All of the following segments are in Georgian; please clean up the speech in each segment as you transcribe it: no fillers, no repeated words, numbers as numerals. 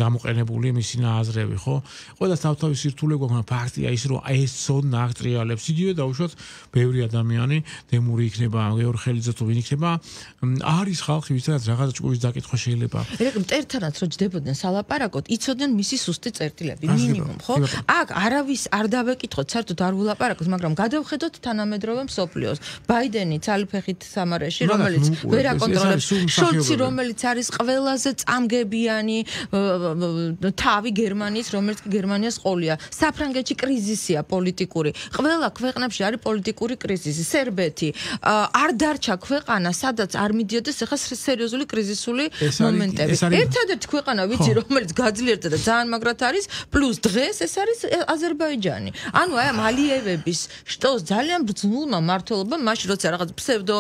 გამოყენებული მისი ნააზრები, ხო? ყველა თავთავის სირთულე გვაქვს, ფაქტია ის, რომ ეს ცოდნა აღტრიალებს იგივე დაუშვათ ბევრი ადამიანი, დემური იქნება, გეორგ ხელიძე თუ ვინ იქნება, არის ხალხი, ვისაც რაღაცა ჭკურის დაკითხვა შეიძლება. მტერთანაც რო ჯდებოდნენ სალაპარაკოდ, იცოდნენ მისი სუსტი წერტილები, მინიმუმ, ხო? აქ არავის არ დავეკითხოთ, საერთოდ არ ვილაპარაკოთ, მაგრამ გადავხედოთ თანამედროვე მსოფლიოს. ბაიდენი ცალფეხით სამარეში, რომელიც ვერ აკონტროლებს, შოლცი, რომელიც არის ყველაზე წამგებიანი თავი გერმანიის, რომელიც გერმანიას ყოლია. საფრანგეთში კრიზისია პოლიტიკური. ყველა ქვეყნებში არის პოლიტიკური კრიზისი. სერბეთი არ დარჩა ქვეყანა, სადაც არ მიდიოდეს ახლა სერიოზული კრიზისული მომენტები. ერთადერთი ქვეყანა ვიცი, რომელიც გაძლიერდა და ძალიან მაგრად არის, პლუს დღეს ეს არის აზერბაიჯანი. ანუ აი ამ ალიევების შტოს ძალიან ბრძნულმა მმართველობამ, მაშინ როცა რაღაც ფსევდო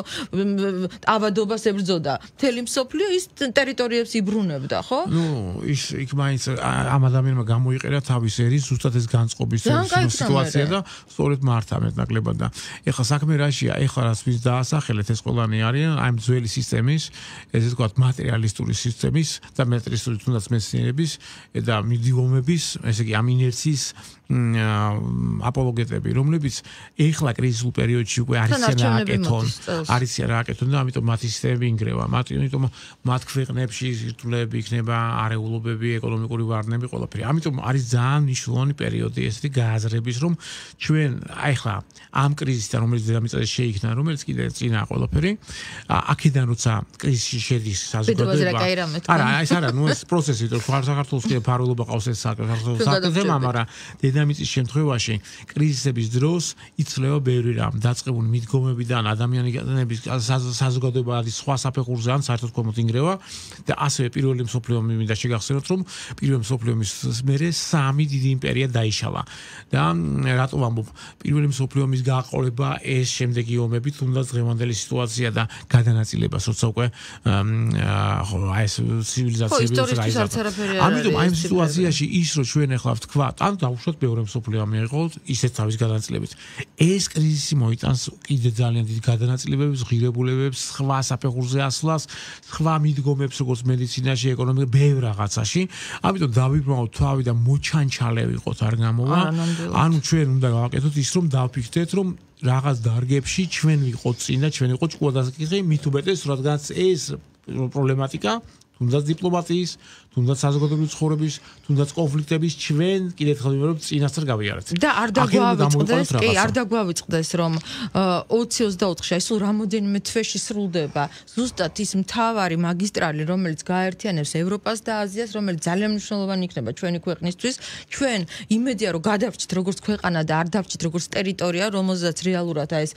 ავადობას ებრძოდა მთელი მსოფლიო, ის ტერიტორიებს იბრუნებდა, ხო? ის იქ მაინც ამ ადამიანმა გამოიყენა თავის ერის ზუსტად ეს განწყობის სიტუაცია და სწორედ მართა მეტნაკლებად და ეხლა საქმე რაშია, ეხლა რაც ვის დაასახელეთ ეს ყველანი არიან აი ძველი სისტემის, ესე ვთქვათ, მატერიალისტური სისტემის და მეტრისტული თუნდაც მეცნიერების და მიდგომების, ესე იგი ამ ინერციის აპოლოგეტები, რომლებიც ეხლა კრიზისულ პერიოდში უკვე არიციან რააკეთონ და ამიტომ მათი სისტემები ინგრევა. ამიტომ მათ ქვეყნებში სირთულეები იქნება, არეულობები, ეკონომიკური ვარდნები, ყველაფერი. ამიტომ არის ძალიან მნიშვნელოვანი პერიოდი ესეთი გააზრების, რომ ჩვენ ეხლა ამ კრიზისთან, რომელიც დედამიწაზე შეიქმნა, რომელიც კიდე წინა ყველაფერი, აქედან როცა კრიზისში შედის საზოგადოება. არა, ეს არა, ეს პროცესი, რომ საქართველოს კიდე ფარულობა ყავს ეს საქართველოს საკითხებმა, მაგრამ დედამიწის შემთხვევაში კრიზისების დროს იცლება ბევრი რამ, დაწყებული მიდგომებიდან, ადამიანების საზოგადოება არის სხვა საფეხურზე ან საერთოდ ქვემოთ ინგრევა და ასევე პირველი მსოფლიო ომი მინდა შეგახსენოთ, რომ პირველი მსოფლიო ომის მერე სამი დიდი იმპერია დაიშალა და რატო ვამბობ, პირველი მსოფლიო ომის გაყოლება ეს შემდეგი ომები, თუნდაც დღევანდელი სიტუაცია და გადანაწილებას, როცა უკვე აი ეს ცივილიზაციები ამიტომ აი ამ სიტუაციაში ის რომ ჩვენ ახლა ვთქვათ, ან დავუშვათ მეორე მსოფლიო ომი იყო ისეთ თავის გადანაწილებით. ეს კრიზისი მოიტანს კიდე ძალიან დიდ გადანაწილებებს, ღირებულებებს, სხვა საფეხურზე ასვლას, სხვა მიდგომებს, როგორც მედიცინაში, ეკონომიკაში, ბევრ რაღაცაში. ამიტომ დავიბრუნოთ თავი და მოჩანჩალე ვიყოთ არ გამოვა. ანუ ჩვენ უნდა გავაკეთოთ ის, რომ დავფიქრდეთ, რომ რაღაც დარგებში ჩვენ ვიყოთ წინ და ჩვენ ვიყოთ ჭკუადასაკითხი, მით უმეტეს, რადგანაც ეს პრობლემატიკა თუნდაც დიპლომატიის, თუნდაც საზოგადოებრივი ცხოვრების, თუნდაც კონფლიქტების ჩვენ კიდევ ხალხებრივ წინასწარ გავიარეთ. და არ დაგვავიწყდეს, რომ 2024-ში სულ რამოდენიმე თვეში სრულდება ზუსტად ის მთავარი მაგისტრალი, რომელიც გააერთიანებს ევროპას და აზიას, რომელიც ძალიან მნიშვნელოვანი იქნება ჩვენი ქვეყნისთვის. ჩვენ იმედია, რომ გადავრჩით როგორც ქვეყანა და არ დავრჩით როგორც ტერიტორია, რომელზეც რეალურად ეს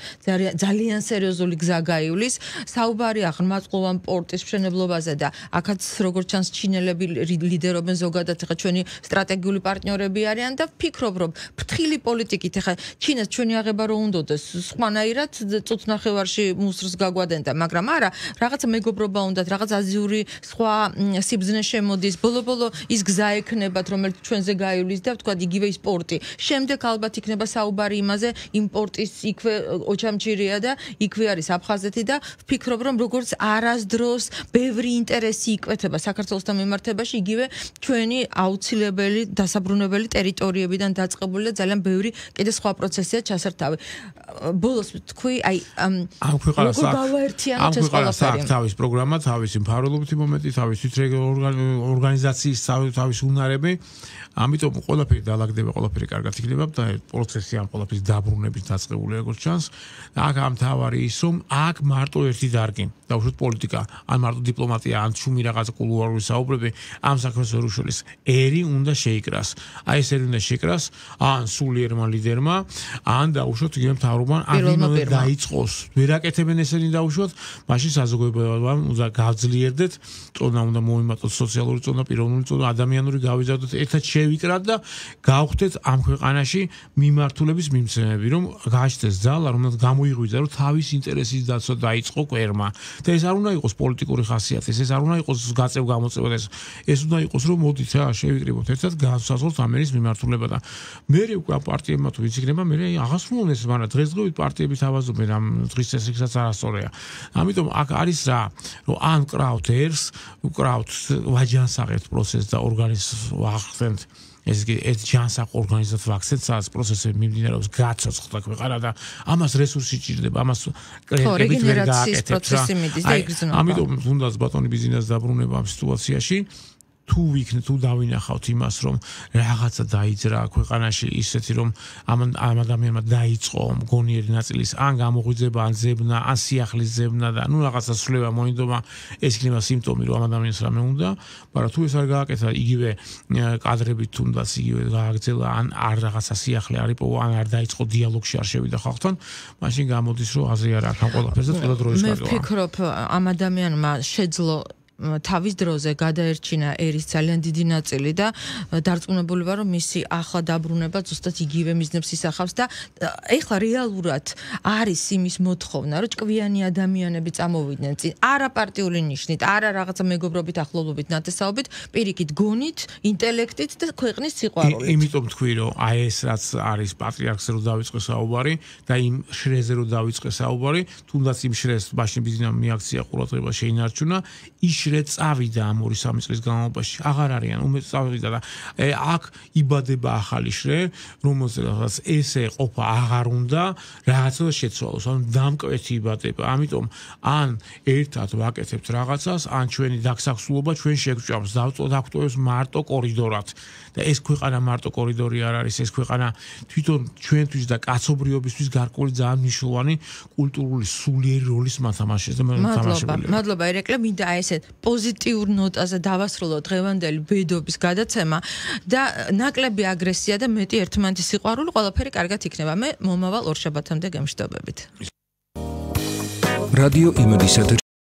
ძალიან სერიოზული გზა გაივლის. საუბარია ღრმაწყლოვან პორტის მშენებლობაზე და აქაც როგორც ჩანს ჩინელები ლიდერობენ ზოგადად ახლა ჩვენი სტრატეგიული პარტნიორები არიან და ვფიქრობ რომ ფრთხილი პოლიტიკით ახლა ჩინას ჩვენი აღება რო უნდოდეს სხვანაირად წუთნახევარში მუსრს გაგვადენდა მაგრამ არა რაღაცა მეგობრობა უნდათ რაღაც აზიური სხვა სიბზნე შემოდის ბოლო-ბოლო ის გზა ექნებათ რომელიც ჩვენზე გაივლის და ვთქვათ იგივე ის პორტი შემდეგ ალბათ იქნება საუბარი იმაზე იმ პორტის იქვე ოჩამჭირია და იქვე არის აფხაზეთი და ვფიქრობ რომ როგორც არასდროს ბევრი ინტერესი იკვეთება საქართველოსთან მიმართებაში იგივე ჩვენი აუცილებელი დასაბრუნებელი ტერიტორიებიდან დაწყებული და ძალიან ბევრი კიდე სხვა პროცესია ჩასართავი. ბოლოს თქვი აი ამ ქვეყანას აქვს თავის პროგრამა, თავისი მფარველობითი მომენტი, თავისი ორგანიზაციის თავის უნარები. ამიტომ ყველაფერი დაალაგდება, ყველაფერი კარგად იქნება და პროცესი ამ ყველაფრის დაბრუნების დაწყებული როგორც ჩანს. აქ ამ თავარი ის რომ აქ მარტო ერთი დარგი, დაუშვათ პოლიტიკა, ან მარტო დიპლომატია, ან შუმი რაღაც კულუარული საუბრები ამ საქმეს ვერ უშველის. ერი უნდა შეიკრას. აი ეს ერი უნდა შეიკრას ან სულიერმა ლიდერმა, ან დაუშვათ იგივე მთავრობამ, ან ვინმე დაიწყოს. ვერ აკეთებენ ესენი დაუშვათ, მაშინ საზოგადოებამ უნდა გავძლიერდეთ, წონა უნდა მოიმატოთ სოციალური წონა, პიროვნული წონა, ადამიანური გავიზარდოთ, ერთად ვიკრათ და გავხდეთ ამ ქვეყანაში მიმართულების მიმცემები, რომ გააჩნდეს ძალა, რომელსაც გამოიღვიძა, რომ თავის ინტერესის დაცვა დაიწყო კვერმა. და ეს არ უნდა იყოს პოლიტიკური ხასიათის, ეს არ უნდა იყოს იყოს გაწევ-გამოწევად ეს უნდა იყოს რომ მოდით რა შევიკრიბოთ ერთად განსაზღვროთ ამერის მიმართულება და მე უკვე პარტიებმა თუ ვიცი იქნება მე აღასრულონ ეს მაგრამ დღესდღეობით პარტიები თავაზობენ ამ დღის წესრიგსაც არასწორია ამიტომ აქ არის რა რომ ან კრავთ ერს უკრავთ ვაჯანსაღებთ პროცესს და ორგანიზმს ვახდენთ ეს ჯანსაღ ორგანიზაციას ვაქცინაციის პროცესები მიმდინარეობს გაცოცხლდა ქვეყანა და ამას რესურსი ჭირდება ამას კრედიტებით ვერ გააკეთებთ რა ამიტომ თუნდაც ბატონი ბიზნეს დაბრუნება ამ სიტუაციაში თუ დავინახავთ იმას რომ რაღაცა დაიძრა ქვეყანაში ისეთი რომ ამ ადამიანმა დაიწყო მგონიერი ნაწილის ან გამოღვიძება ან ზებნა ან სიახლის ზებნა და ნუ რაღაცა სვლება მოინდომა ეს იქნება სიმპტომი რომ ამ ადამიანს რამე უნდა მაგრამ თუ ეს არ გააკეთა იგივე კადრებით თუნდაც იგივე გააგრძელა ან არ რაღაცა სიახლე არ იპოვა ან არ დაიწყო დიალოგში არ შევიდა ხალხთან მაშინ გამოდის რომ აზრი არ აქვს ამ ყველაფერზე და ყველა დროის კარგია მე ვფიქრობ ამ ადამიანმა შეძლო თავის დროზე გადაერჩინა ერის ძალიან დიდი ნაწილი და დარწმუნებული ვარ რომ მისი ახლა დაბრუნება ზუსტად იგივე მიზნებს ისახავს და ეხლა რეალურად არის იმის მოთხოვნა რომ ჭკვიანი ადამიანები წამოვიდნენ წინ არა პარტიული ნიშნით არა რაღაცა მეგობრობით ახლობლობით ნათესაობით პირიქით გონით ინტელექტით და ქვეყნის სიყვარულით იმიტომ თქვი რომ აი ეს რაც არის პატრიარქზე რომ დავიწყე საუბარი და იმ შრეზე რომ დავიწყე საუბარი თუნდაც იმ შრეს მაშინ ბიზნესმა მიაქცია ყურადღება შეინარჩუნა შრე წავიდა ამ 2-3 წლის განმავლობაში აღარ არიან უმეტ წავიდა და აქ იბადება ახალი შრე რომელსაც ესე ყოფა აღარ უნდა რაღაცა შეცვალოს ანუ დამკვეთი იბადება ამიტომ ან ერთად ვაკეთებთ რაღაცას ან ჩვენი დაგსახსულობა ჩვენ შეგჭამს დავწოდავთ მარტო კორიდორად და ეს ქვეყანა მარტო კორიდორი არ არის ეს ქვეყანა თვითონ ჩვენთვის და კაცობრიობისთვის გარკვეული ძალიან მნიშვნელოვანი კულტურული სულიერი როლის მათამაშეს და მადლობა მადლობა ერეკლე მინდა ესეთ პოზიტიურ ნოტაზე დავასრულოთ დღევანდელი ბედობის გადაცემა და ნაკლები აგრესია და მეტი ერთმანეთის სიყვარული ყველაფერი კარგად იქნება მე მომავალ ორშაბათამდე გემშვიდობებით რადიო იმედისა